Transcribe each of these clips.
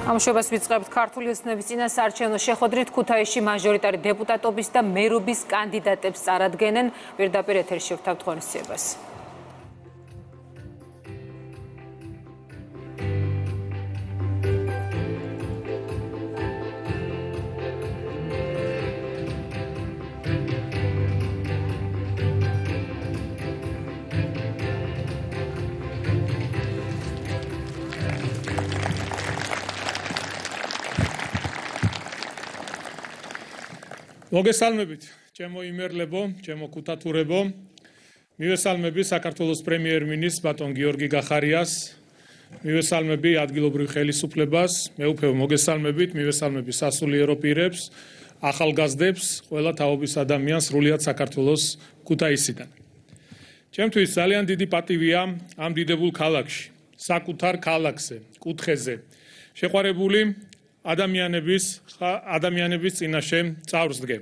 ამშვენებას ვიწყებთ ქართული ოცნების წინასაარჩევნო შეხვედრით ქუთაისში მაჟორიტარი დეპუტატობის და მერობის კანდიდატებს წარადგენენ. პირდაპირ ეთერში ვთავთ ღონისძიებას. მოგესალმებით, ჩემო იმერლებო, ჩემო ქუთათურებო. მივესალმები საქართველოს პრემიერ-მინისტრს ბატონ გიორგი გახარიას. მივესალმები ადგილობრივ ხელისუფლებას, მეუფევ მოგესალმებით, მივესალმები სასულიერო პირებს, ახალგაზრდებს, ყველა თაობის ადამიანს სრულიად საქართველოს ქუთაისიდან. ჩემთვის ძალიან დიდი პატივია ამ დიდებულ ქალაქში, საკუთარ ქალაქზე, კუთხეზე, შეყვარებული ადამიანების წინაშე წარსდგე.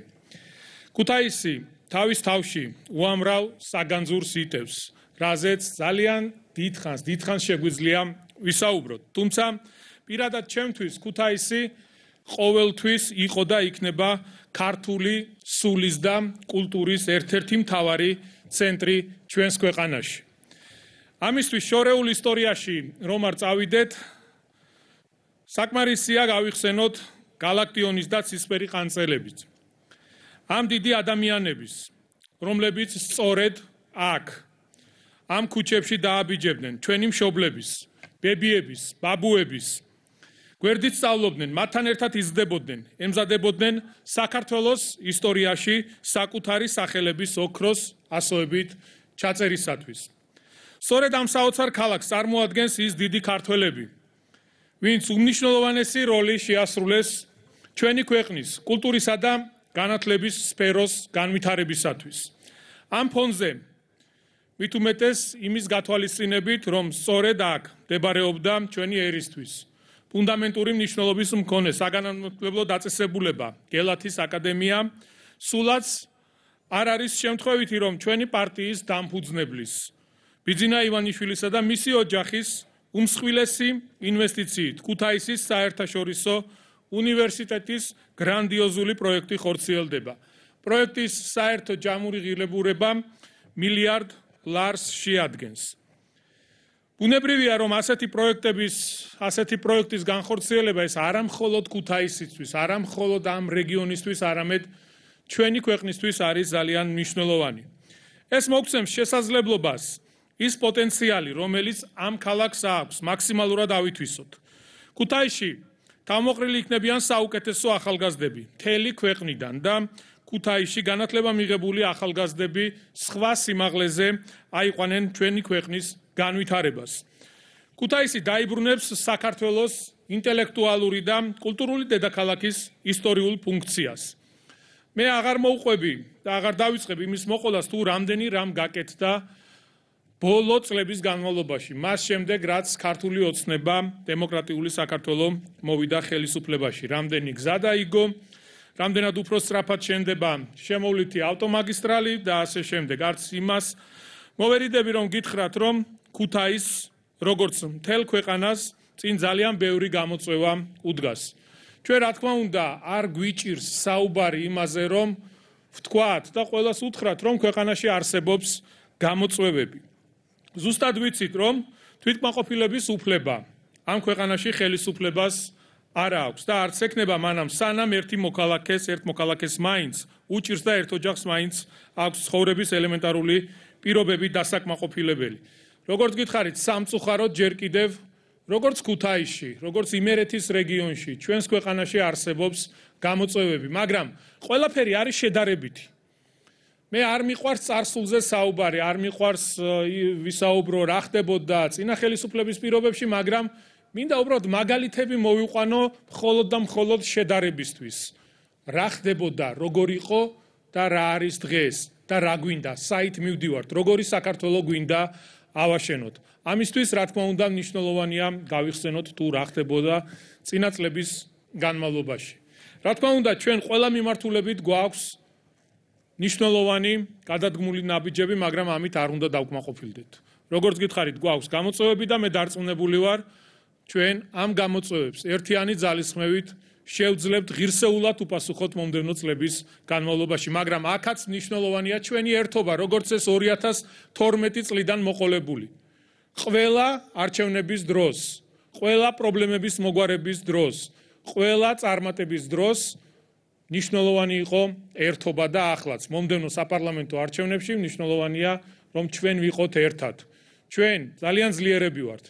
ქუთაისი თავის თავში უამრავ საგანძურს იტევს, რაზეც ძალიან დიდხანს შეგვიძლია ვისაუბროთ. თუმცა პირადად ჩემთვის ქუთაისი ყოველთვის იყო და იქნება ქართული სულის და კულტურის ერთ-ერთი მთავარი ცენტრი ჩვენს ქვეყანაში. ამისთვის შორეულ ისტორიაში რომ არ წავიდეთ, საკმარისია გავიხსენოთ გალაქტიონის და ცისფერი ყანწელებით. ამ დიდი ადამიანების, რომლებიც სწორედ აქ, ამ ქუჩებში დააბიჯებდნენ ჩვენი მშობლების, ბებიების, ბაბუების, გვერდით სწავლობდნენ, მათთან ერთად იზრდებოდნენ, ემზადებოდნენ საქართველოს ისტორიაში საკუთარი სახელების ოქროს ასოებით ჩაწერისათვის. სწორედ ამ საოცარ ქალაქს წარმოადგენს ის დიდი ქართველები, ვინც უმნიშვნელოვანესი როლი შეასრულეს ჩვენი ქვეყნის კულტურისა და განათლების სფეროს განვითარებისათვის. ამ ფონზე მით უმეტეს იმის გათვალისწინებით, რომ სწორედ აქ მდებარეობდა ჩვენი ერისთვის ფუნდამენტური მნიშვნელობის მქონე საგანმანათლებლო დაწესებულება გელათის აკადემია, სულაც არ არის შემთხვევითი, რომ ჩვენი პარტიის დამფუძნებლის ბიძინა ივანიშვილისა და მისი ოჯახის უმსხვილესი ინვესტიციით ქუთაისის საერთაშორისო უნივერსიტეტის გრანდიოზული პროექტი ხორციელდება. პროექტის საერთო ჯამური ღირებულება $1 მილიარდ შეადგენს. ბუნებრივია, რომ ასეთი პროექტის განხორციელება ეს არა მხოლოდ ქუთაისისთვის, არა მხოლოდ ამ რეგიონისთვის, არამედ ჩვენი ქვეყნისთვის არის ძალიან მნიშვნელოვანი. ეს მოგცემს შესაძლებლობას ის პოტენციალი, რომელიც ამ ქალაქს აქვს, მაქსიმალურად ავითვისოთ. ქუთაისში თავმოყრილი იქნებიან საუკეთესო ახალგაზრდები მთელი ქვეყნიდან და ქუთაისში განათლება მიღებული ახალგაზრდები სხვა სიმაღლეზე აიყვანენ ჩვენი ქვეყნის განვითარებას. ქუთაისი დაიბრუნებს საქართველოს ინტელექტუალური და კულტურული დედაქალაქის ისტორიულ ფუნქციას. მე აღარ მოუყვები და აღარ დავიწყებ იმის მოყოლას, თუ რამდენი რამ გაკეთდა ბოლო წლების განმავლობაში, მას შემდეგ, რაც ქართული ოცნება დემოკრატიული საქართველო მოვიდა ხელისუფლებაში, რამდენი გზა დაიგო, რამდენად უფრო სწრაფად შენდება შემოვლითი ავტომაგისტრალი და ასე შემდეგ. არც იმას მოვერიდები, რომ გითხრათ, რომ ქუთაისს, როგორც მთელ ქვეყანას, წინ ძალიან ბევრი გამოწვევა უდგას. ჩვენ რა თქმა უნდა, არ გვიჭირს საუბარი იმაზე, რომ ვთქვათ და ყველას უთხრათ, რომ ქვეყანაში არსებობს გამოწვევები. ზუსტად ვიცით, რომ თვითკმაყოფილების უფლება ამ ქვეყანაში ხელისუფლებას არ აქვს და არც ექნება მანამ, სანამ ერთ მოქალაქეს მაინც უჭირს და ერთ ოჯახს მაინც აქვს ცხოვრების ელემენტარული პირობები დასაკმაყოფილებელი. როგორც გითხარით, სამწუხაროდ ჯერ კიდევ, როგორც ქუთაისში, როგორც იმერეთის რეგიონში, ჩვენს ქვეყანაში არსებობს გამოწვევები, მაგრამ ყველაფერი არის შედარებითი. მე არ მიყვარს წარსულზე საუბარი, არ მიყვარს ვისაუბრო რა ხდებოდა წინა ხელისუფლების პირობებში, მაგრამ მინდა უბრალოდ მაგალითები მოვიყვანო მხოლოდ და მხოლოდ შედარებისთვის. რა ხდებოდა, როგორ იყო და რა არის დღეს და რა გვინდა, საით მივდივართ, როგორი საქართველო გვინდა ავაშენოთ. ამისთვის, რა თქმა უნდა, მნიშვნელოვანია გავიხსენოთ თუ რა ხდებოდა წინა წლების განმავლობაში. რა თქმა უნდა, ჩვენ ყველა მიმართულებით გვაქვს ნიშნულოვანი გადადგმული ნაბიჯები, მაგრამ ამით არ უნდა დავკმაყოფილდეთ. როგორც გითხარით, გვაქვს გამოწვევები და მე დარწმუნებული ვარ, ჩვენ ამ გამოწვევებს ერთიანი ძალისხმევით შევძლებთ ღირსეულად უპასუხოთ მომდევნო წლების განმავლობაში, მაგრამ აქაც მნიშვნელოვანია ჩვენი ერთობა, როგორც ეს 2012 წლიდან მოყოლებული. ყველა არჩევნების დროს, ყველა პრობლემების მოგვარების დროს, ყველა წარმატების დროს მნიშვნელოვანი იყო ერთობა და ახლაც. მომდევნო საპარლამენტო არჩევნებში მნიშვნელოვანია, რომ ჩვენ ვიყოთ ერთად. ჩვენ ძალიან ძლიერები ვართ.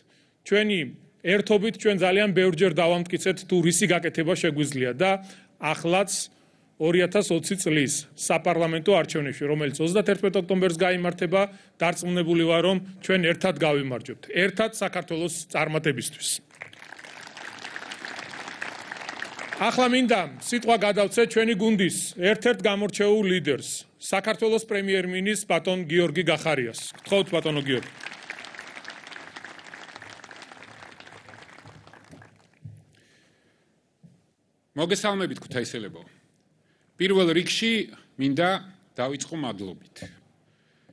ჩვენი ერთობით ჩვენ ძალიან ბევრჯერ დავამტკიცეთ თუ რისი გაკეთება შეგვიძლია და ახლაც 2020 წლის საპარლამენტო არჩევნებში, რომელიც 31 ოქტომბერს გაიმართება, დარწმუნებული ვარ, რომ ჩვენ ერთად გავიმარჯვებთ. ერთად საქართველოს წარმატებისთვის. ახლა მინდა სიტყვა გადავცე ჩვენი გუნდის ერთ-ერთ გამორჩეულ ლიდერს, საქართველოს პრემიერ-მინისტრს ბატონ გიორგი გახარიას. გთხოვთ ბატონო გიორგი. მოგესალმებით ქუთაისელებო. პირველ რიგში მინდა დავიწყო მადლობით.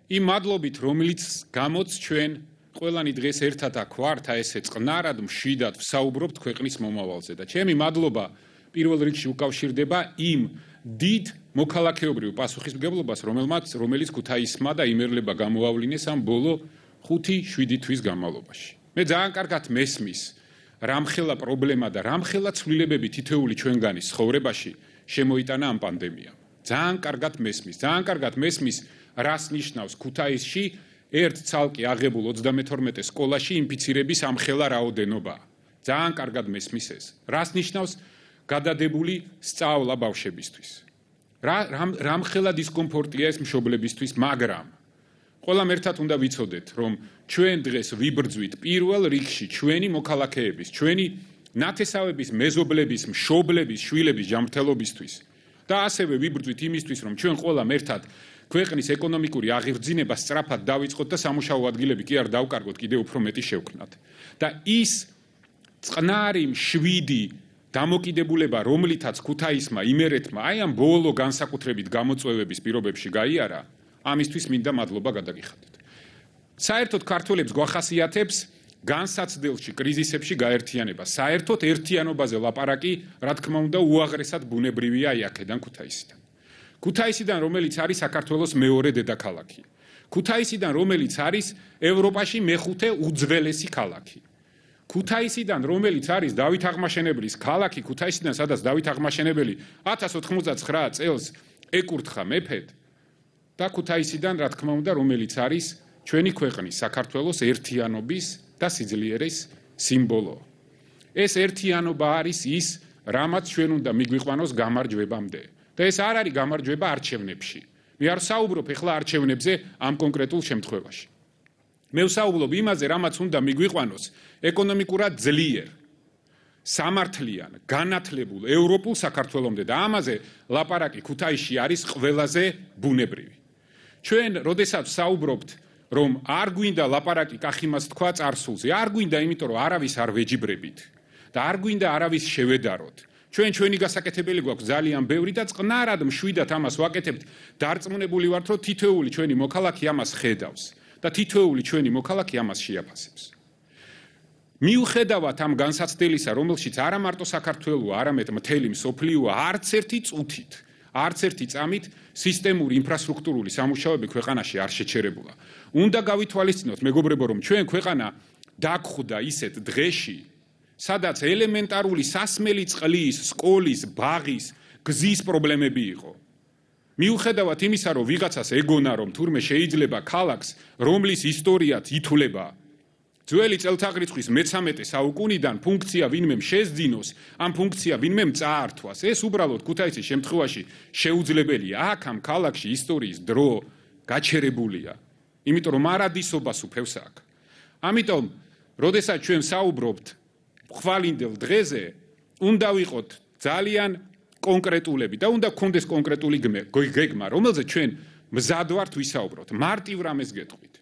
იმ მადლობით, რომელიც გამოც ჩვენ ყველანი დღეს ერთად აქ ვართ, ესე წყნარად, მშვიდად ვსაუბრობთ ქვეყნის მომავალზე და ჩემი მადლობა პირველ რიგში უკავშირდება იმ დიდ მოქალაქეობრივ პასუხისმგებლობას, რომელიც ქუთაისმა და იმერლება გამოავლინეს ამ ბოლო 5-7 თვის განმავლობაში. მე ძალიან კარგად მესმის რამხელა პრობლემა და რამხელა ცვლილებები თითოეული ჩვენგანის ცხოვრებაში შემოიტანა ამ პანდემიამ. ძალიან კარგად მესმის, რას ნიშნავს ქუთაისში ერთ ცალკე აღებულ 32 სკოლაში ინფიცირების ამხელა რაოდენობა. ძალიან კარგად მესმის ეს. რას ნიშნავს გადადებული სწავლა ბავშვებისთვის. რამხელა დისკომფორტია ეს მშობლებისთვის, მაგრამ ყველამ ერთად უნდა ვიცოდეთ, რომ ჩვენ დღეს ვიბრძვით პირველ რიგში ჩვენი მოქალაქეების, ჩვენი ნათესავების, მეზობლების, მშობლების, შვილების ჯანმრთელობისთვის და ასევე ვიბრძვით იმისთვის, რომ ჩვენ ყველამ ერთად ქვეყნის ეკონომიკური აღირძინება სწრაფად დავიწყოთ და სამუშაო ადგილები კი არ დავკარგოთ, კიდევ უფრო მეტი შევქმნათ. და ის წყნარი, მშვიდი დამოკიდებულება, რომლითაც ქუთაისმა, იმერეთმა, აი ამ ბოლო განსაკუთრებით გამოწვევების პირობებში გაიარა, ამისთვის მინდა მადლობა გადაგიხადოთ. საერთოდ ქართველებს გვახასიათებს განსაცდელში, კრიზისებში გაერთიანება. საერთოდ ერთიანობაზე ლაპარაკი, რა თქმა უნდა, უაღრესად ბუნებრივია აქედან ქუთაისიდან. ქუთაისიდან, რომელიც არის საქართველოს მეორე დედაქალაქი. ქუთაისიდან, რომელიც არის ევროპაში მეხუთე უძველესი ქალაქი. ქუთაისიდან, რომელიც არის დავით აღმაშენებლის ქალაქი, ქუთაისიდან, სადაც დავით აღმაშენებელი 1099 წელს ეკურთხა მეფედ და ქუთაისიდან, რა თქმა უნდა, რომელიც არის ჩვენი ქვეყნის საქართველოს ერთიანობის და სიძლიერის სიმბოლო. ეს ერთიანობა არის ის, რამაც ჩვენ უნდა მიგვიყვანოს გამარჯვებამდე. და ეს არ არის გამარჯვება არჩევნებში. მე არ საუბრობ ეხლა არჩევნებზე ამ კონკრეტულ შემთხვევაში. მე ვსაუბრობ იმაზე, რამაც უნდა მიგვიყვანოს ეკონომიკურად ძლიერ, სამართლიან, განათლებულ ევროპულ საქართველომდე და ამაზე ლაპარაკი ქუთაისში არის ყველაზე ბუნებრივი. ჩვენ, როდესაც საუბრობთ, რომ არ გვინდა ლაპარაკი კახიმას თქვა წარსულზე, არ გვინდა, იმიტომ რომ არავის არ ვეჯიბრებით და არ გვინდა არავის შევედაროთ. ჩვენი გასაკეთებელი გვაქვს ძალიან ბევრი და წყნარად მშვიდად ამას ვაკეთებთ. დარწმუნებული ვართ, რომ თითოეული ჩვენი მოქალაქე ამას ხედავს და თითოეული ჩვენი მოქალაქე ამას შეაფასებს. მიუხედავად ამ განსაცდელისა, რომელშიც არა მარტო საქართველოა, არამედ მთელი მსოფლიოა, არც ერთი წუთით, არც ერთი წამით სისტემური ინფრასტრუქტურული სამუშაოები ქვეყანაში არ შეჩერებულა. უნდა გავითვალისწინოთ, მეგობრებო, რომ ჩვენ ქვეყანა დაგხვდა ისეთ დღეში, სადაც ელემენტარული სასმელი წყლის, სკოლის, ბაღის, გზის პრობლემები იყო. მიუხედავად იმისა, რომ ვიღაცას ეგონა, რომ თურმე შეიძლება ქალაქს, რომლის ისტორიაც ითვლება ძველი წელთაღრიცხვის მე-13 საუკუნიდან ფუნქცია ვინმემ შეძინოს, ამ ფუნქცია ვინმემ წაართვას. ეს უბრალოდ ქუთაისის შემთხვევაში შეუძლებელია. აქ ამ ქალაქში ისტორიის დრო გაჩერებულია. იმიტომ რომ არადისობას უფევს აქ. ამიტომ, როდესაც ჩვენ საუბრობთ ხვალინდელ დღეზე, უნდა ვიყოთ ძალიან კონკრეტულები და უნდა გქონდეს კონკრეტული გეგმა, რომელზეც ჩვენ მზად ვართ ვისაუბროთ. მარტივ რამეს გეტყვით.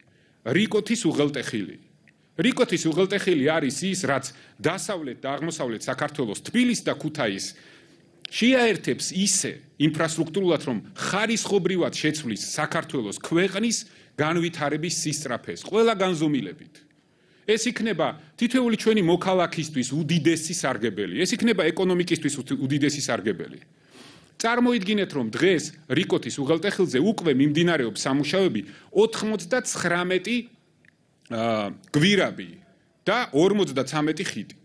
რიკოთის უღელტეხილი. რიკოთის უღელტეხილი არის ის, რაც დასავლეთ და აღმოსავლეთ საქართველოს, თბილისს და ქუთაისს შეაერთებს ისე ინფრასტრუქტურულად, რომ ხარისხობრივად შეცვლის საქართველოს ქვეყნის განვითარების სისწრაფეს, ყველა განზომილებით. ეს იქნება თითოეული ჩვენი მოქალაქისთვის უდიდესი სარგებელი. ეს იქნება ეკონომიკისთვის უდიდესი სარგებელი. წარმოიდგინეთ, რომ დღეს რიკოთის უღელტეხილზე უკვე მიმდინარეობს სამუშაოები 99 გვირაბი და 53 ხიდი.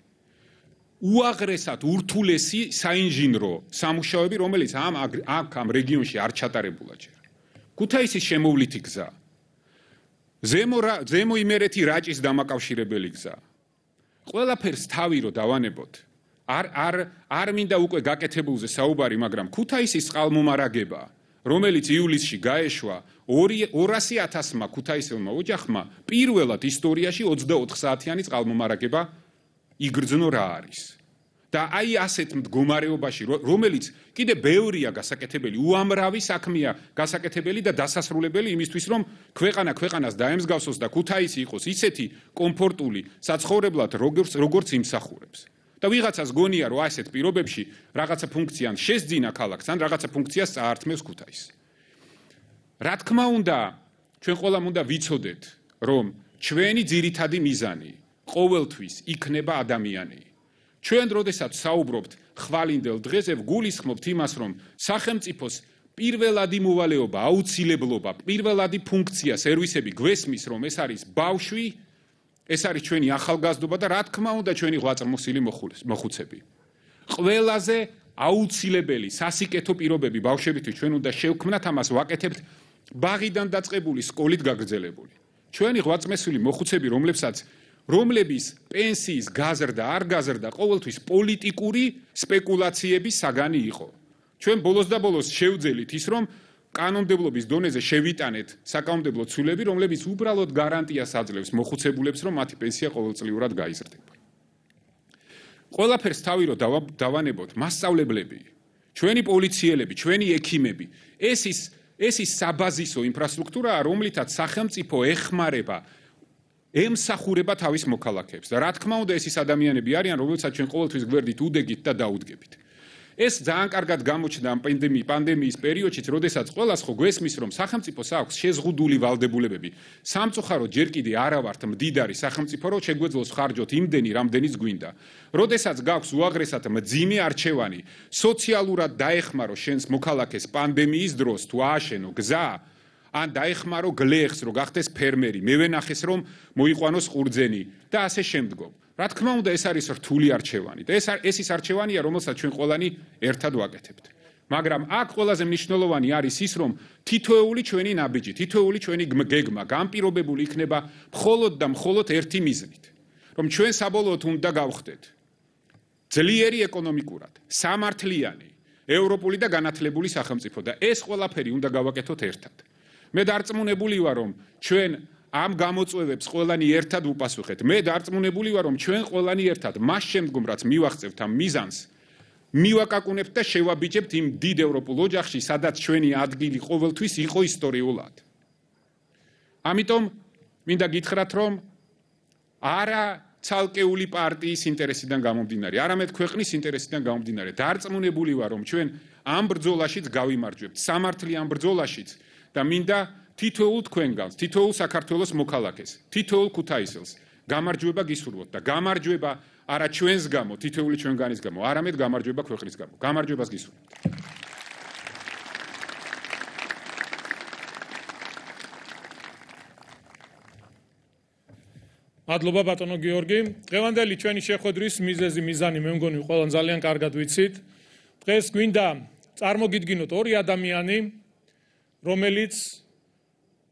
უაღრესად ურთულესი საინჟინრო სამუშაოები, რომელიც ამ რეგიონში არ ჩატარებულა ჯერ. ქუთაისის შემოვლითი გზა, ზემო იმერეთი რაჭის დამაკავშირებელი გზა. ყველაფერს თავი რო დავანებოთ. არ მინდა უკვე გაკეთებულზე საუბარი, მაგრამ ქუთაისის წყალმომარაგება, რომელიც ივლისში გაეშვა 200,000-მა ქუთაისელმა ოჯახმა, პირველად ისტორიაში 24 საათიანი წყალმომარაგება იგრძნო რა არის. და აი ასეთ მდგომარეობაში, რომელიც კიდე ბევრია გასაკეთებელი, უამრავი საქმეა გასაკეთებელი და დასასრულებელი იმისთვის, რომ ქვეყანას დაემსგავსოს და ქუთაისი იყოს ისეთი კომფორტული საცხოვრებლად, როგორც იმსახურებს. და ვიღაცას გონია, რომ ასეთ პირობებში რაღაცა ფუნქცია შეძინა ქალაქს, ან რაღაცა ფუნქციას წაართმევს ქუთაისს. რა თქმა უნდა, ჩვენ ყველამ უნდა ვიცოდეთ, რომ ჩვენი ძირითადი მიზანი ყოველთვის იქნება ადამიანი. ჩვენ როდესაც საუბრობთ ხვალინდელ დღეზე, ვგულისხმობთ იმას, რომ სახელმწიფოს პირველადი მოვალეობა, აუცილებლობა, პირველადი ფუნქცია, სერვისები გვესმის, რომ ეს არის ბავშვი, ეს არის ჩვენი ახალგაზრდობა და რა თქმა უნდა ჩვენი ღვაწლმოსილი მოხუცები. ყველაზე აუცილებელი სასიკეთო პირობები ბავშვებისთვის ჩვენ უნდა შევქმნათ, ამას ვაკეთებთ ბაღიდან დაწყებული სკოლით გაგრძელებული. ჩვენი ღვაწლმოსილი მოხუცები, რომლების პენსიის გაზრდა არ გაზრდა ყოველთვის პოლიტიკური სპეკულაციების საგანი იყო. ჩვენ ბოლოს და ბოლოს შევძელით ის, რომ კანონმდებლობის დონეზე შევიტანეთ საკანონმდებლო ცვლილები, რომლებიც უბრალოდ გარანტიას აძლევს მოხუცებულებს, რომ მათი პენსია ყოველწლიურად გაიზრდება. ყველაფერს თავი რო დავანებოთ, მასწავლებლები, ჩვენი პოლიციელები, ჩვენი ექიმები, ეს ის საბაზისო ინფრასტრუქტურაა, რომლითაც სახელმწიფო ეხმარება ემსახურება თავის მოქალაქეებს და რა თქმა უნდა ეს ის ადამიანები არიან, რომელსაც ჩვენ ყოველთვის გვერდით უდეგით და დაუდგებით. ეს ძალიან კარგად გამოჩნდა ამ პანდემიის პერიოდშიც, როდესაც ყველას ხო გვესმის, რომ სახელმწიფოს აქვს შეზღუდული ვალდებულებები. სამწუხაროდ ჯერ კიდე არა ვართ მდიდარი სახელმწიფო, რომ შეგვეძლოს ხარჯოთ იმდენი, რამდენიც გვინდა. როდესაც გაქვს უაღრესად მძიმე არჩევანი, სოციალურად დაეხმარო შენს მოქალაქეს პანდემიის დროს, თუ ააშენო გზა, ან დაეხმარო გლეხს, რომ გახდეს ფერმერი, მევენახეს, რომ მოიყვანოს ყურძენი და ასე შემდგომ. რა თქმა უნდა, ეს არის რთული არჩევანი და ეს ის არჩევანია, რომელსაც ჩვენ ყველანი ერთად ვაკეთებთ. მაგრამ აქ ყველაზე მნიშვნელოვანი არის ის, რომ თითოეული ჩვენი ნაბიჯი, თითოეული ჩვენი გეგმა განპირობებული იქნება მხოლოდ და მხოლოდ ერთი მიზნით, რომ ჩვენ საბოლოოდ უნდა გავხდეთ ძლიერი ეკონომიკურად, სამართლიანი, ევროპული და განათლებული სახელმწიფო და ეს ყველაფერი უნდა გავაკეთოთ ერთად. მე დარწმუნებული ვარ, რომ ჩვენ ამ გამოწვევებს ყველანი ერთად ვუპასუხეთ. მე დარწმუნებული ვარ, რომ ჩვენ ყველანი ერთად მას შემდგომ რაც მივახცევთ ამ მიზანს, მივაკაკუნებთ და შევაბიჯებთ იმ დიდ ევროპულ ოჯახში, სადაც ჩვენი ადგილი ყოველთვის იყო ისტორიულად. ამიტომ მინდა გითხრათ, რომ არა ცალკეული პარტიის ინტერესიდან გამომდინარე, არამედ ქვეყნის ინტერესიდან გამომდინარე, დარწმუნებული ვარ, რომ ჩვენ ამ ბრძოლაშიც გავიმარჯვებთ, სამართლიან ბრძოლაშიც და მინდა თითოეულ თქვენგანს, თითოეულ საქართველოს მოქალაქეს, თითოეულ ქუთაისელს გამარჯვება გისურვოთ და გამარჯვება არა ჩვენს გამო, თითოეული ჩვენგანის გამო, არამედ გამარჯვება ქვეყნის გამო. გამარჯვებას გისურვოთ. მადლობა ბატონო გიორგი. დღევანდელი ჩვენი შეხვედრის მიზანი მე მგონი ყველან ძალიან კარგად ვიცით. დღეს გვინდა წარმოგიდგინოთ ორი ადამიანი, რომელიც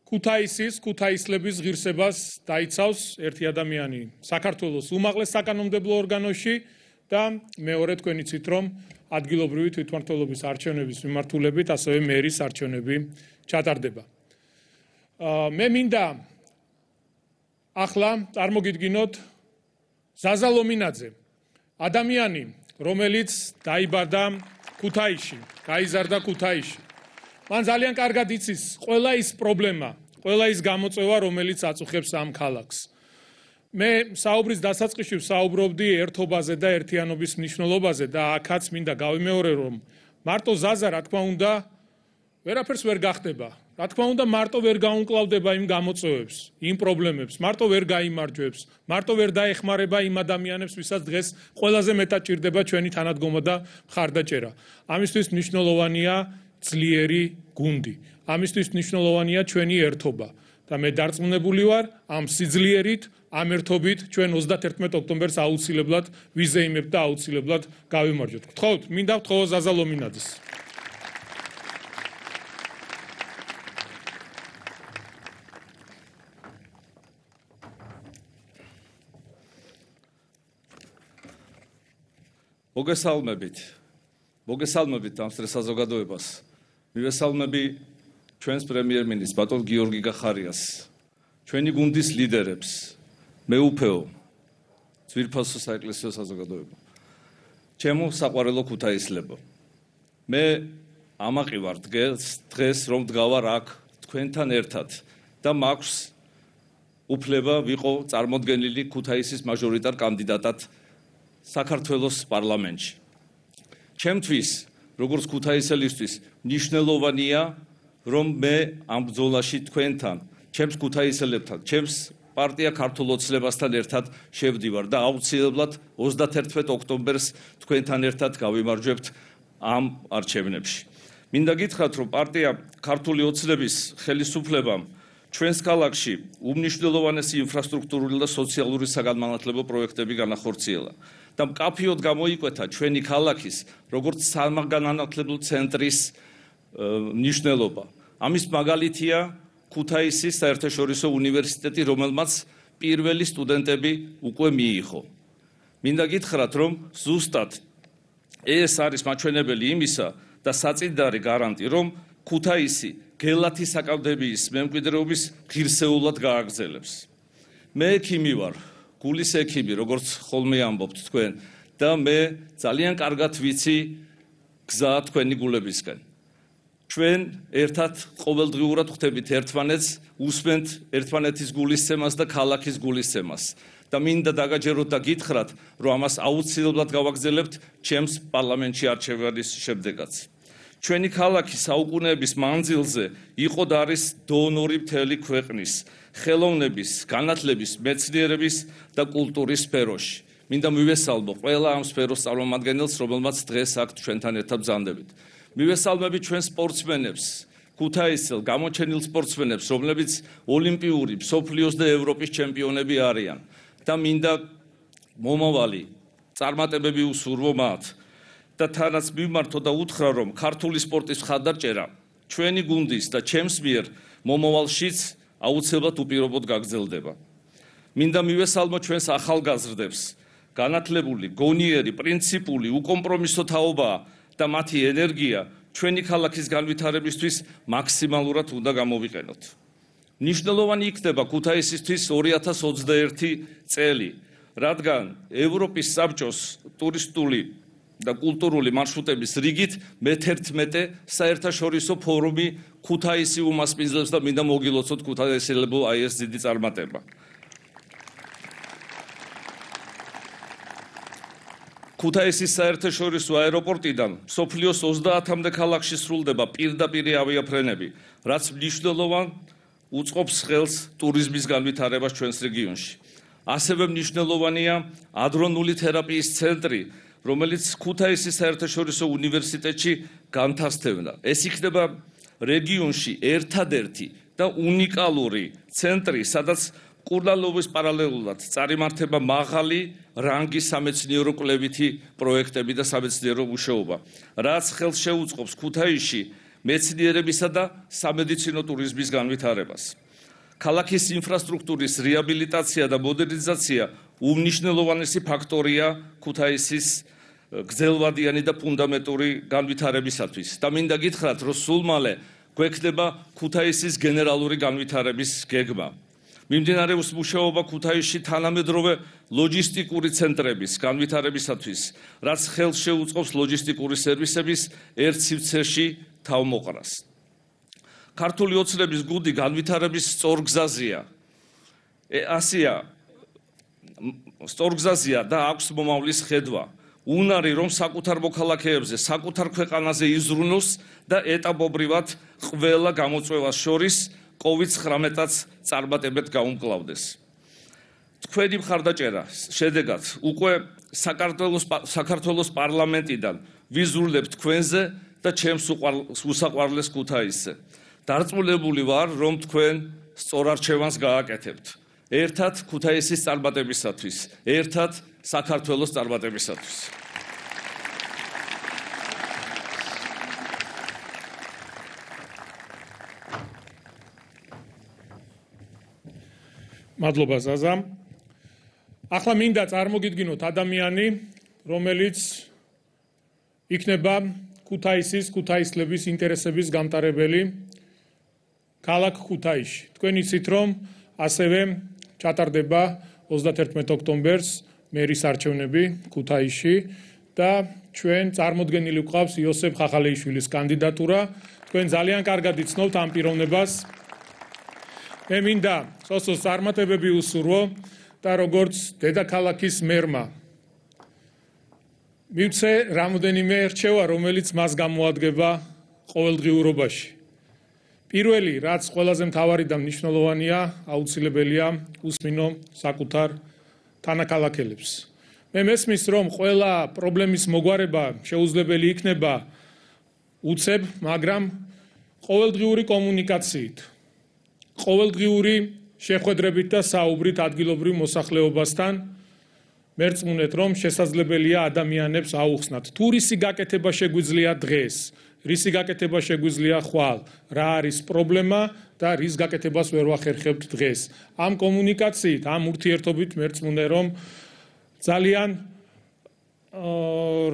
ქუთაისლების ღირსებას დაიცავს. ერთი ადამიანი საქართველოს უმაღლეს საკანონმდებლო ორგანოში და მეორე თქვენ იცით, რომ ადგილობრივი თვითმმართველობის არჩევნების მიმართულებით ასევე მერის არჩევნები ჩატარდება. მე მინდა ახლა წარმოგიდგინოთ ზაზა ლომინაძე, ადამიანი, რომელიც დაიბადა ქუთაისში, გაიზარდა ქუთაისში. მან ძალიან კარგად იცის ყველა ის პრობლემა, ყველა ის გამოწვევა, რომელიც აწუხებს ამ ქალაქს. მე საუბრის დასაწყისში ვსაუბრობდი ერთობაზე და ერთიანობის მნიშვნელობაზე და აქაც მინდა გავიმეორე, რომ მარტო ზაზა, რა თქმა უნდა, ვერაფერს ვერ გახდება. რა თქმა უნდა, მარტო ვერ გაუმკლავდება იმ გამოწვევებს, იმ პრობლემებს, მარტო ვერ გაიმარჯვებს, მარტო ვერ დაეხმარება იმ ადამიანებს, ვისაც დღეს ყველაზე მეტად ჭირდება ჩვენი თანადგომა და მხარდაჭერა. ამისთვის მნიშვნელოვანია ძლიერი გუნდი. ამისთვის მნიშვნელოვანია ჩვენი ერთობა. და მე დარწმუნებული ვარ, ამ სიძლიერით, ამ ერთობით ჩვენ 31 ოქტომბერს აუცილებლად ვიზეიმებთ და აუცილებლად გავიმარჯვებთ. გთხოვთ, მინდა ვთხოვო ზაზა ლომინაძეს. მოგესალმებით ამ საზოგადოებას. მივესალმები ჩვენს პრემიერ-მინისტრს ბატონ გიორგი გახარიას, ჩვენი გუნდის ლიდერებს, მეუფეო, ძვირფასო საეკლესიო საზოგადოება. ჩემო საყვარელო ქუთაისლებო. მე ამაყი ვარ დღეს რომ დგავარ აქ თქვენთან ერთად და მაქვს უფლება ვიყო წარმოდგენილი ქუთაისის მაჟორიტარ კანდიდატად საქართველოს პარლამენტში. ჩემთვის, როგორც ქუთაისელისთვის, მნიშვნელოვანია, რომ მე ამ ბრძოლაში თქვენთან, ჩემს ქუთაისელებთან, ჩემს პარტია ქართულ ოცნებასთან ერთად შევდივარ და აუცილებლად 31 ოქტომბერს თქვენთან ერთად გავიმარჯვებთ ამ არჩევნებში. მინდა გითხრათ, რომ პარტია ქართული ოცნების ხელისუფლებამ ჩვენს ქალაქში უმნიშვნელოვანესი ინფრასტრუქტურული და სოციალური საგანმანათლებლო პროექტები განახორციელა. და მკაფიოდ გამოიკვეთა ჩვენი ქალაქის როგორც სამაგანმანათლებლო ცენტრის მნიშვნელობა. ამის მაგალითია ქუთაისის საერთაშორისო უნივერსიტეტი, რომელმაც პირველი სტუდენტები უკვე მიიღო. მინდა გითხრათ, რომ ზუსტად ეს არის მაჩვენებელი იმისა და საწინდარი გარანტი, რომ ქუთაისი გელათის აკადემიის მემკვიდრეობის ღირსეულად გააგრძელებს. მე ექიმი ვარ, გულის ექიმი, როგორც ხოლმე ამბობთ თქვენ, და მე ძალიან კარგად ვიცი გზა თქვენი გულებისკენ. ჩვენ ერთად ყოველდღიურად ხვდებით ერთმანეთს, უსმენთ ერთმანეთის გულისცემას და ქალაქის გულისცემას. და მინდა დაგაჯეროთ და გითხრათ, რომ ამას აუცილებლად გავაგრძელებთ ჩემს პარლამენტში არჩევანის შემდეგაც. ჩვენი ქალაქი საუკუნეების მანძილზე იყო და არის დონორი მთელი ქვეყნის ხელოვნების, განათლების, მეცნიერების და კულტურის სფეროში. მინდა მივესალმო ყველა ამ სფეროს წარმომადგენელს, რომელმაც დღეს აქ ჩვენთან ერთად ბრძანდებით. მივესალმები ჩვენ სპორტსმენებს, ქუთაისელ გამოჩენილ სპორტსმენებს, რომლებიც ოლიმპიური, მსოფლიოს და ევროპის ჩემპიონები არიან. და მინდა მომავალი წარმატებები უსურვო მათ. და თანაც მიმართო და უთხრა, რომ ქართული სპორტის მხარდაჭერა ჩვენი გუნდის და ჩემს მიერ მომავალშიც აუცილებლად უპირობოდ გაგრძელდება. მინდა მივესალმო ჩვენს ახალგაზრდებს, განათლებული, გონიერი, პრინციპული, უკომპრომისო თაობაა და მათი ენერგია ჩვენი ქალაქის განვითარებისთვის მაქსიმალურად უნდა გამოვიყენოთ. მნიშვნელოვანი იქნება ქუთაისისთვის 2021 წელი, რადგან ევროპის საბჭოს ტურისტული და კულტურული მარშრუტების რიგით მე-11 საერთაშორისო ფორუმი ქუთაისი უმასპინძლებს და მინდა მოგილოცოთ ქუთაისელებო აი ეს დიდი წარმატება. ქუთაისის საერთაშორისო აეროპორტიდან მსოფლიოს 30-მდე ქალაქში სრულდება პირდაპირი ავიაფრენები, რაც მნიშვნელოვან უწყობს ხელს ტურიზმის განვითარებას ჩვენს რეგიონში. ასევე მნიშვნელოვანია ადრონული თერაპიის ცენტრი, რომელიც ქუთაისის საერთაშორისო უნივერსიტეტში განთავსდება. ეს იქნება რეგიონში ერთადერთი და უნიკალური ცენტრი, სადაც კურნალობის პარალელურად წარიმართება მაღალი რანგის სამეცნიერო კვლევითი პროექტები და სამეცნიერო მუშაობა, რაც ხელს შეუწყობს ქუთაისში მეცნიერებისა და სამედიცინო ტურიზმის განვითარებას. ქალაქის ინფრასტრუქტურის რეაბილიტაცია და მოდერნიზაცია უმნიშვნელოვანესი ფაქტორია ქუთაისის გრძელვადიანი და ფუნდამენტური განვითარებისათვის. და მინდა გითხრათ, რომ სულ მალე გვექნება ქუთაისის გენერალური განვითარების გეგმა. მიმდინარეობს მუშაობა ქუთაისში თანამედროვე ლოჯისტიკური ცენტრების განვითარებისათვის, რაც ხელს შეუწყობს ლოჯისტიკური სერვისების ერთ სივრცეში თავმოყრას. ქართული ოცნების გუნდი განვითარების სწორგზაზია. ასია სწორგზაზია და აქვს მომავლის ხედვა. უნარი რომ საკუთარ მოქალაქეებზე, საკუთარ ქვეყანაზე იზრუნოს და ეტაპობრივად ყველა გამოწვევას შორის COVID-19-აც წარმატებით გაუმკლავდეს. თქვენი მხარდაჭერა შედეგად უკვე საქართველოს პარლამენტიდან ვიზრუნებთ თქვენზე და ჩემს უსაყვარლეს ქუთაისზე. დარწმუნებული ვარ, რომ თქვენ სწორ არჩევანს გააკეთებთ. ერთად ქუთაისის წარმატებისათვის, ერთად საქართველოს წარმატებისათვის. მადლობა ზაზა. ახლა მინდა წარმოგიდგინოთ ადამიანი, რომელიც იქნება ქუთაისლების ინტერესების გამტარებელი ქალაქ ქუთაისში. თქვენ იცით, რომ ასევე ჩატარდება 31 ოქტომბერს მერის არჩევნები ქუთაისში და ჩვენ წარმოდგენილი გვყავს იოსებ ხახალეიშვილის კანდიდატურა. თქვენ ძალიან კარგად იცნობთ ამ პიროვნებას. მე მინდა სოსოს წარმატებები უსურვო და როგორც დედაქალაქის მერმა მივცე რამოდენიმე რჩევა, რომელიც მას გამოადგება ყოველდღიურობაში. პირველი, რაც ყველაზე მთავარი და მნიშვნელოვანია, აუცილებელია უსმინო საკუთარ თანაქალაქელებს. მე მესმის, რომ ყველა პრობლემის მოგვარება შეუძლებელი იქნება უცებ, მაგრამ ყოველდღიური კომუნიკაციით, ყოველდღიური შეხვედრებით და საუბრით ადგილობრივ მოსახლეობასთან მერწმუნეთ, რომ შესაძლებელია ადამიანებს აუხსნათ. თუ რისი გაკეთება შეგვიძლია დღეს, რისი გაკეთება შეგვიძლია ხვალ, რა არის პრობლემა და რის გაკეთებას ვერ ვახერხებთ დღეს. ამ კომუნიკაციით, ამ ურთიერთობით მერწმუნე, რომ ძალიან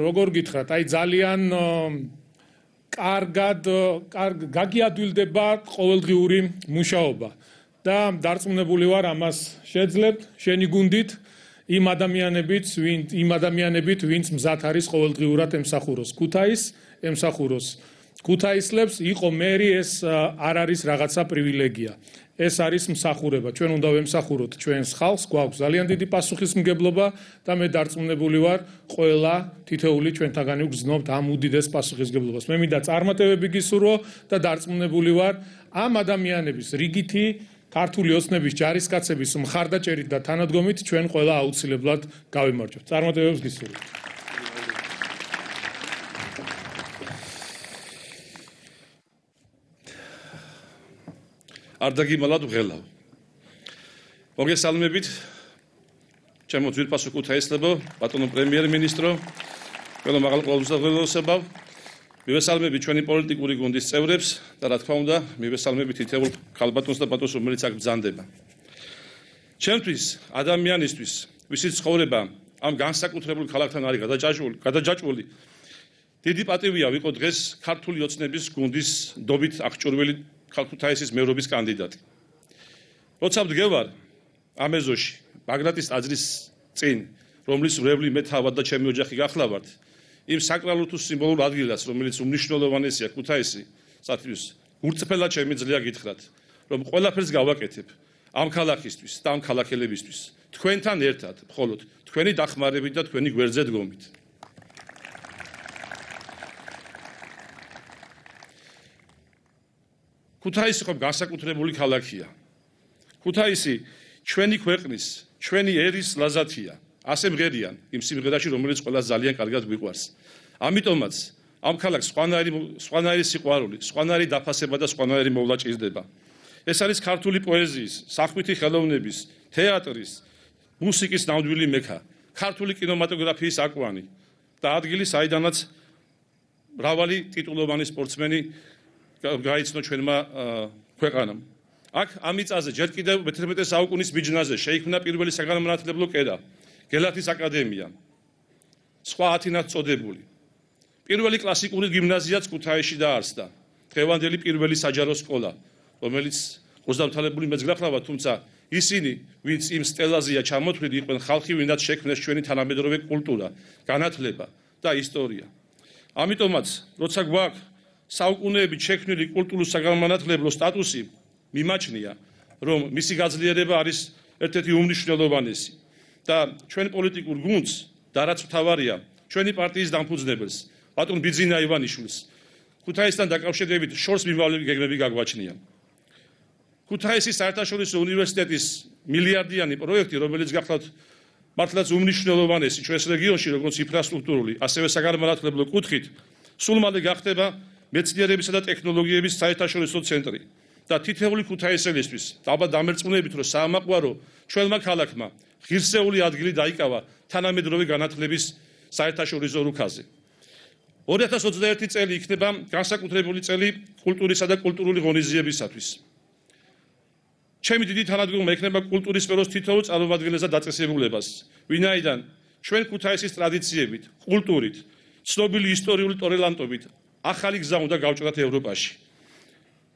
როგორ გითხრათ, ძალიან კარგად გაგიადვილდება ყოველდღიური მუშაობა და დარწმუნებული ვარ, ამას შეძლებთ შენი გუნდით იმ ადამიანებით, ვინც მზად არის ყოველდღიურად ემსახუროს ქუთაისლებს. იყო მერი, ეს არ არის რაღაცა პრივილეგია. ეს არის მსახურება. ჩვენ უნდა ვემსახუროთ ჩვენს ხალხს, გვაქვს ძალიან დიდი პასუხისმგებლობა და მე დარწმუნებული ვარ, ყველა თითოეული ჩვენთაგანი ვგრძნობთ ამ უდიდეს პასუხისმგებლობას. მე მინდა წარმატებები გისურვო და დარწმუნებული ვარ, ამ ადამიანების რიგითი ქართული ოცნების ჯარისკაცების მხარდაჭერით და თანადგომით ჩვენ ყველა აუცილებლად გავიმარჯვებთ. წარმატებებს გისურვებთ. არ დაგიმალავ ღელავ. მოგესალმებით, ჩემო ძვირფასო ქუთაისლებო, ბატონო პრემიერ-მინისტრო, ყველა მაღალ ყოველდღიურობასებავ. მივესალმებით ჩვენი პოლიტიკური გუნდის წევრებს და რა თქმა უნდა, მივესალმებით თითოეულ ქალბატონს და ბატონს, რომელიც აქ ბრძანდება. ჩემთვის, ადამიანისთვის, ვისიც ცხოვრება ამ განსაკუთრებულ ქალაქთან არის გადაჯაჭვული, დიდი პატივია ვიყო დღეს ქართული ოცნების გუნდის დობით აღჭურვილი ქუთაისის მერობის კანდიდატი. როცა ვდგევარ ამ ეზოში, ბაგრატის ტაძრის წინ, რომლის მრევლი მე თავად და ჩემი ოჯახი გახლავართ, იმ საკრალურ თუ სიმბოლურ ადგილას, რომელიც უმნიშვნელოვანესია ქუთაისისათვის, ურწმფელად შემიძლია გითხრათ, რომ ყველაფერს გავაკეთებ ამ ქალაქისთვის და ამ ქალაქელებისთვის, თქვენთან ერთად, მხოლოდ თქვენი დახმარებით და თქვენი გვერდზე დგომით. ქუთაისი ხომ განსაკუთრებული ქალაქია. ქუთაისი ჩვენი ქვეყნის, ჩვენი ერის ლაზათია. ასე მღერიან იმ სიმღერაში, რომელიც ყველას ძალიან კარგად გვიყვარს. ამიტომაც ამ ქალაქს სხვანაირი სიყვარული, სხვანაირი დაფასება და სხვანაირი მოვლა ჭირდება. ეს არის ქართული პოეზიის, სახვითი ხელოვნების, თეატრის, მუსიკის ნამდვილი მექა, ქართული კინემატოგრაფიის აკვანი და ადგილი, საიდანაც მრავალი ტიტულოვანი სპორტსმენი გაიცნო ჩვენმა ქვეყანამ. აქ ამ მიწაზე ჯერ კიდევ მე-11 საუკუნის მიჯნაზე შეიქმნა პირველი საგანმანათლებლო კერა, გელათის აკადემია, სხვა 10 წოდებული. პირველი კლასიკური გიმნაზიაც ქუთაისში დაარსდა, დღევანდელი პირველი საჯარო სკოლა, რომელიც ყურძამთვალებული მეც გახლავართ, თუმცა ისინი, ვინც იმ სტელაზეა ჩამოთვლილი, იყვნენ ხალხი, ვინაც შექმნეს ჩვენი თანამედროვე კულტურა, განათლება და ისტორია. ამიტომაც, როცა გვაქვს საუკუნეებით შექმნილი კულტურულ-საგანმანათლებლო სტატუსი, მიმაჩნია, რომ მისი გაძლიერება არის ერთ-ერთი უმნიშვნელოვანესი და ჩვენ პოლიტიკურ გუნდს და რაც მთავარია, ჩვენი პარტიის დამფუძნებელს, ბატონ ბიძინა ივანიშვილს. ქუთაისთან დაკავშირებით შორს მიმავლები გეგმები გაგვაჩნია. ქუთაისის საერთაშორისო უნივერსიტეტის მილიარდიანი პროექტი, რომელიც გახლავთ მართლაც უმნიშვნელოვანესი ჩვენს რეგიონში, როგორც ინფრასტრუქტურული, ასევე საგანმანათლებლო კუთხით, სულ მალე გახდება მეცნიერებისა და ტექნოლოგიების საერთაშორისო ცენტრი და თითოეული ქუთაისელისთვის ალბათ დამერწმუნებით, რომ საამაყვარო ჩვენმა ქალაქმა ღირსეული ადგილი დაიკავა თანამედროვე განათლების საერთაშორისო რუქაზე. 2021 წელი იქნება განსაკუთრებული წელი კულტურისა და კულტურული ღონისძიებისათვის. ჩემი დიდი თანადგომა ექნება კულტურის სფეროს თითოეულ წარმომადგენელს და დაწესებულებას, ვინაიდან ჩვენ ქუთაისის ტრადიციებით, კულტურით, ცნობილი ისტორიული ტორელანტობით ახალი გზა უნდა გავჭრათ ევროპაში.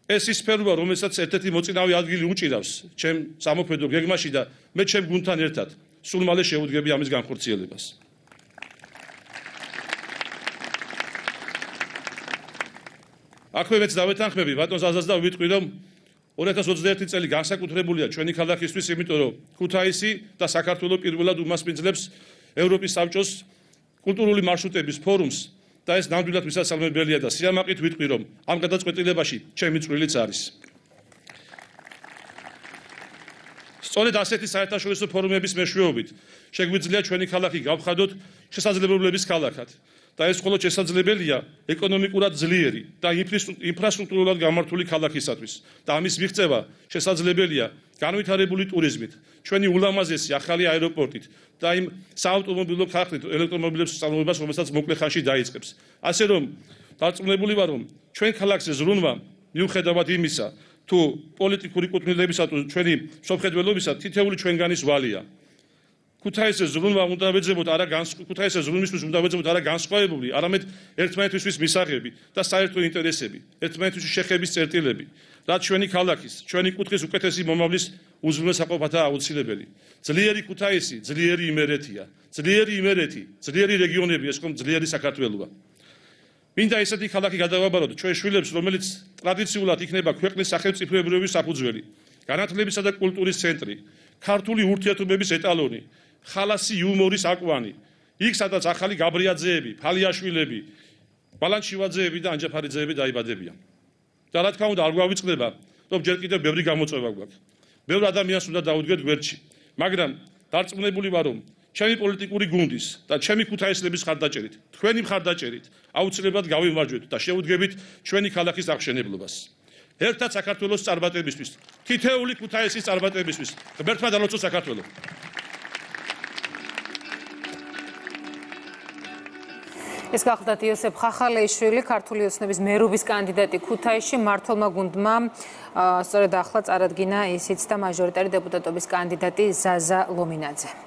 ეს ის სფეროა, რომელსაც ერთ-ერთი მოწინავე ადგილი უჭირავს ჩემ სამოქმედო გეგმაში და მე ჩემ გუნდთან ერთად სულ მალე შევუდგები ამის განხორციელებას. აქვე მეც დავეთანხმები ბატონ ზაზას და ვიტყვი, რომ 2021 წელი განსაკუთრებულია ჩვენი ქალაქისთვის, იმიტომ რომ ქუთაისი და საქართველოს პირველად უმასპინძლებს ევროპის საბჭოს კულტურული მარშრუტების ფორუმს და ეს ნამდვილად მისასალმებელია და სიამაყით ვიტყვი, რომ ამ გადაწყვეტილებაში ჩემი წვლილიც არის. სწორედ ასეთი საერთაშორისო ფორუმების მეშვეობით შეგვიძლია ჩვენი ქალაქი გავხადოთ შესაძლებლობების ქალაქად და ეს მხოლოდ შესაძლებელია ეკონომიკურად ძლიერი და ინფრასტრუქტურულად გამართული ქალაქისათვის და ამის მიღწევა შესაძლებელია განვითარებული ტურიზმით, ჩვენი ულამაზესი ახალი აეროპორტით და იმ საავტომობილო ქარხნით ელექტრომობილების წარმოებას, რომელსაც მოკლე ხანში დაიწყებს. ასე რომ დარწმუნებული ვარ, რომ ჩვენ ქალაქზე ზრუნვა მიუხედავად იმისა, თუ პოლიტიკური კუთვნილებისა თუ ჩვენი სოფხედველობისა თითოეული ჩვენგანის ვალია. ქუთაისზე ზრუნვა უნდა ვეძებოთ ქუთაისზე ზრუნვისთვის უნდა ვეძებოთ არა განსხვავებული, არამედ ერთმანეთისთვის მისაღები და საერთო ინტერესები, ერთმანეთთვის შეხების წერტილები, რაც ჩვენი ქალაქის, ჩვენი კუთხის უკეთესი მომავლის უზრუნველსაყოფათაა აუცილებელი. ძლიერი ქუთაისი, ძლიერი იმერეთია, ძლიერი იმერეთი, ძლიერი რეგიონები, ეს ხომ ძლიერი საქართველოა. მინდა ესეთი ქალაქი გადავაბაროთ ჩვენ შვილებს, რომელიც ტრადიციულად იქნება ქვეყნის სახელმწიფოებრიობის საფუძველი, განათლებისა და კულტურის ცენტრი, ქართული ურთიერთობების ეტალონი, ხალასი იუმორის აკვანი, იქ სადაც ახალი გაბრიაძეები, ფალიაშვილები, ბალანჩივაძეები და ანჯაფარიძეები დაიბადებიან. და რა თქმა უნდა არ გვავიწყდება, რომ ჯერ კიდევ ბევრი გამოწვევა გვაქვს. ბევრ ადამიანს უნდა დაუდგეთ გვერდში, მაგრამ დარწმუნებული ვარ, რომ ჩემი პოლიტიკური გუნდის და ჩემი ქუთაისლების ხარდაჭერით, თქვენი მხარდაჭერით აუცილებლად გავიმარჯვეთ და შევუდგებით ჩვენი ქალაქის აღშენებლობას. ერთად საქართველოს წარმატებისთვის, თითოეული ქუთაისის წარმატებისთვის. ღმერთმა დალოცოს საქართველო. ეს გახლდათ იოსებ ხახალეიშვილი, ქართული ოცნების მერობის კანდიდატი ქუთაისში, მმართველმა გუნდმა სწორედ ახლა წარადგინა ისიც და მაჟორიტარი დეპუტატობის კანდიდატი ზაზა ლომინაძე.